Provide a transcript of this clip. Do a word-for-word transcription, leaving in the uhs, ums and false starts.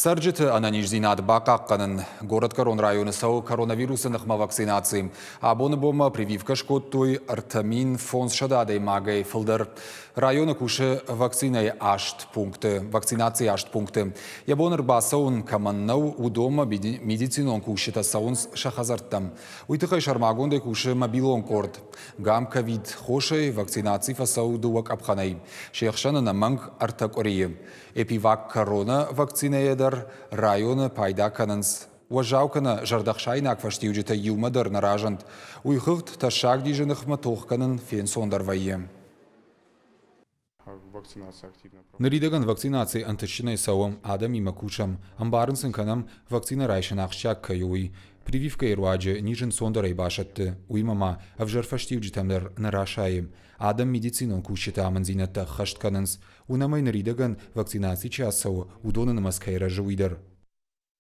Цӕрджыты ӕнӕниздзинад бахъахъхъӕнын. Горӕтгӕрон районы цӕуы коронавирусы ныхмӕ вакцинаци. Абоны бонмӕ прививкӕ скодтой ӕртӕ мин фондзсӕдӕ адӕймагӕй фылдӕр. Районы кусы вакцинӕйы аст пункты, вакцинацийы аст пункты. Йӕ бон ӕрбацӕуын кӕмӕн нӕу, уыдонмӕ медицинон кусджытӕ цӕуынц сӕ хӕдзӕрттӕм. Уый тыххӕй сӕрмагондӕй кусы мобилон къорд. Гам-ковид хосӕй вакцинаци фӕцӕуы дыууӕ къӕпхӕнӕй. Се хсӕн ӕнӕмӕнг ӕртӕ къуырийы. Эпивак корона вакцинӕйӕ дӕр районы пайда кӕнынц. Уӕззау кӕнӕ зӕрдӕхсаинаг фӕстиуджытӕ иумӕ дӕр нӕ разынд. Уый хыгъд тӕссаг низы ныхмӕ тох кӕнын фенцондӕр вӕййы. Ныридӕгӕн вакцинаци ӕнтыстджынӕй цӕуы, адӕмимӕ кусӕм, ӕмбарын сын кӕнӕм, вакцинӕ райсын ахсджиаг кӕй у, уый. Прививкӕйы руаджы низ ӕнцондӕрӕй басӕтты, уыимӕ ма ӕвзӕр фӕстиуджытӕм дӕр нӕ расайы. Адӕм медицинон кусджыты амынддзинӕдтӕ ӕххӕст кӕнынц. Уынӕм ӕй, ныридӕгӕн вакцинаци чи ацӕуы, уыдоны нымӕц кӕй рӕзы, уый дӕр.